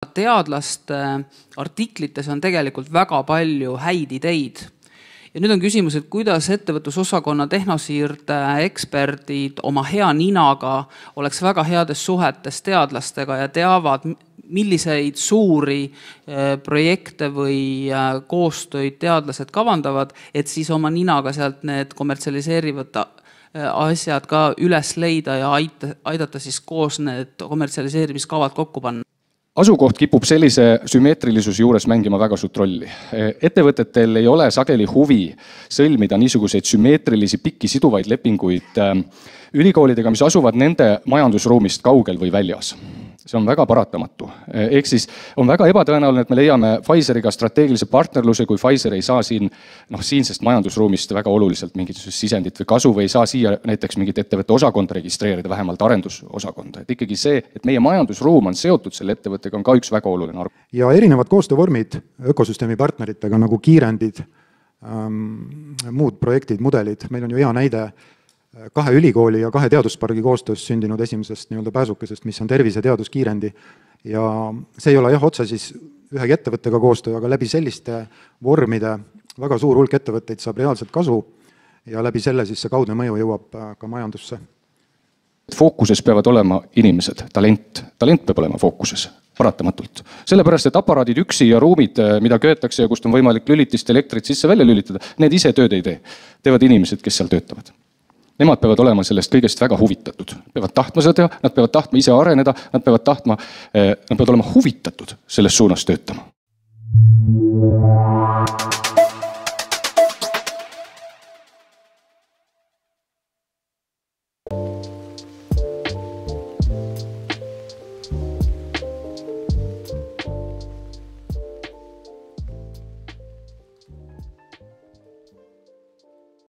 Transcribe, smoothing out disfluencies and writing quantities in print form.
Teadlaste artiklites on tegelikult väga palju häid ideid. Ja nüüd on küsimus, et kuidas ettevõtlusosakonna tehnosiirde eksperdid oma hea ninaga oleks väga heades suhetes teadlastega ja teavad, milliseid suuri projekte või koostöid teadlased kavandavad, et siis oma ninaga sealt need kommertsialiseerivad asjad ka üles leida ja aidata siis koos need kommertsialiseerimiskavad kokku panna. Asukoht kipub sellise sümmeetrilisuse juures mängima väga suurt rolli. Ettevõtetel ei ole sageli huvi sõlmida niisuguseid sümmeetrilisi pikki siduvaid lepinguid ülikoolidega, mis asuvad nende majandusruumist kaugel või väljas. See on väga paratamatu. Ehk siis on väga ebatõenäoline, et me leiame Pfizeriga strateegilise partnerluse, kui Pfizer ei saa siinsest majandusruumist väga oluliselt mingit sisendit või kasu või ei saa siia näiteks mingit ettevõtte osakonda registreerida, vähemalt arendusosakonda. Et ikkagi see, et meie majandusruum on seotud selle ettevõttega, on ka üks väga oluline arv. Ja erinevad koostöövormid ökosüsteemi partneritega nagu kiirendid, muud projektid, mudelid. Meil on ju hea näide 2 ülikooli ja 2 teaduspargi koostöös sündinud esimesest pääsukesest, mis on tervise teaduskiirendi. Ja see ei ole otse siis ühegi ettevõttega koostöö, aga läbi selliste vormide väga suur hulk ettevõtteid saab reaalselt kasu ja läbi selle siis see kaudne mõju jõuab ka majandusse. Fookuses peavad olema inimesed, talent. Talent peab olema fookuses, paratamatult. Sellepärast, et aparaadid üksi ja ruumid, mida köetakse ja kust on võimalik lülitist elektrit sisse välja lülitada, need ise tööd ei tee. Teevad inimesed, kes seal töötavad. Nemad peavad olema sellest kõigest väga huvitatud. Peavad tahtma seda teha, nad peavad tahtma ise areneda, nad peavad olema huvitatud selles suunas töötama.